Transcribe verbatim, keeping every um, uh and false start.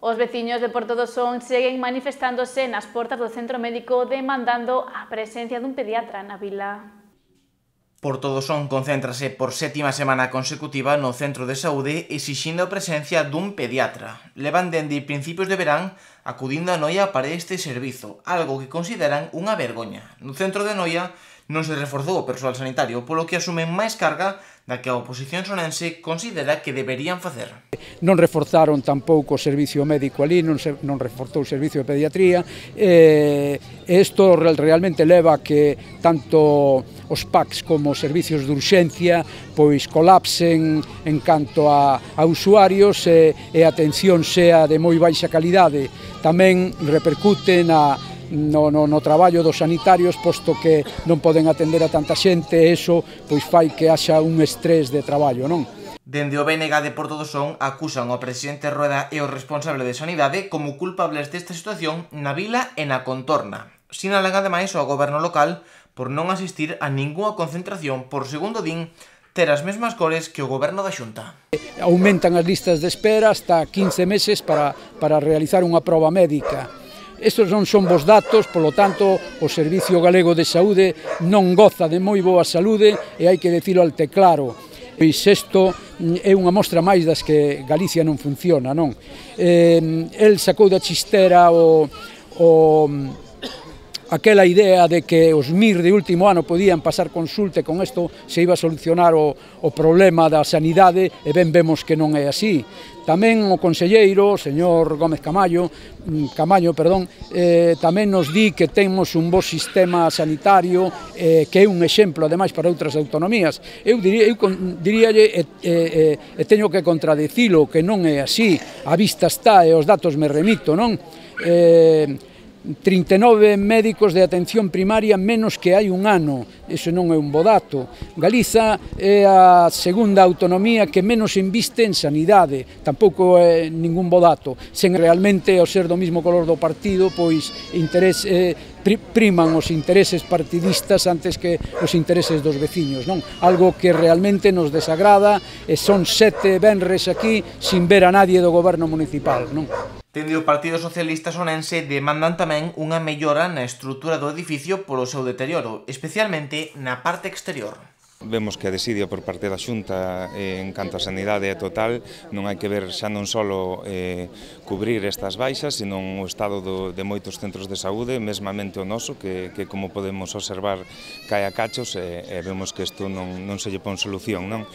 Os veciños de Porto do Son seguen manifestándose nas portas do centro médico demandando a presencia dun pediatra na vila. Porto do Son concéntrase por sétima semana consecutiva no centro de saúde exixindo a presencia dun pediatra. Levan dende principios de verán acudindo a Noia para este servizo, algo que consideran unha vergoña. No centro de Noia non se reforzou o persoal sanitario, polo que asumen máis carga da que a oposición sonense considera que deberían facer. Non reforzaron tampouco o servicio médico ali, non, se, non reforzou o servicio de pediatría, e isto realmente leva a que tanto os P A Cs como os servicios de urxencia pois colapsen en canto a, a usuarios e, e a atención sea de moi baixa calidade. Tamén repercute na No, no, no traballo dos sanitarios, posto que non poden atender a tanta xente, e iso pois fai que haxa un estrés de traballo, non? Dende o B N G de Porto do Son acusan ao presidente Rueda e o responsable de Sanidade como culpables desta situación na vila e na contorna. Sinalan ademais ao goberno local por non asistir a ningunha concentración por, segundo din, ter as mesmas cores que o goberno da Xunta. Aumentan as listas de espera hasta quince meses para, para realizar unha proba médica. Estes non son bons datos, polo tanto, o Servicio Galego de Saúde non goza de moi boa saúde e hai que dicilo alte claro. Pois isto é unha mostra máis das que Galicia non funciona, non? Eh, el sacou da chistera o, o aquela idea de que os M I R de último ano podían pasar consulta e con isto se iba a solucionar o, o problema da sanidade, e ben vemos que non é así. Tamén o conselleiro, o señor Gómez Camaño, Camaño, perdón, eh, tamén nos di que temos un bo sistema sanitario eh, que é un exemplo, ademais, para outras autonomías. Eu, diría, eu diríalle, e, e, e teño que contradicilo, que non é así. A vista está e os datos me remito, non? Eh, trinta e nove médicos de atención primaria menos que hai un ano, iso non é un bo dato. Galiza é a segunda autonomía que menos inviste en sanidade, tampouco é ningún bo dato, sen realmente ao ser do mesmo color do partido, pois interés, eh, priman os intereses partidistas antes que os intereses dos veciños, non? Algo que realmente nos desagrada, e son sete venres aquí sin ver a nadie do goberno municipal, non? Dende o Partido Socialista Sonense demandan tamén unha mellora na estrutura do edificio polo seu deterioro, especialmente na parte exterior. Vemos que a desidia por parte da Xunta en canto a sanidade é total, non hai que ver xa non só eh, cubrir estas baixas, sino o estado do, de moitos centros de saúde, mesmamente o noso, que, que como podemos observar cae a cachos, e, e vemos que isto non, non se lle pon solución, non?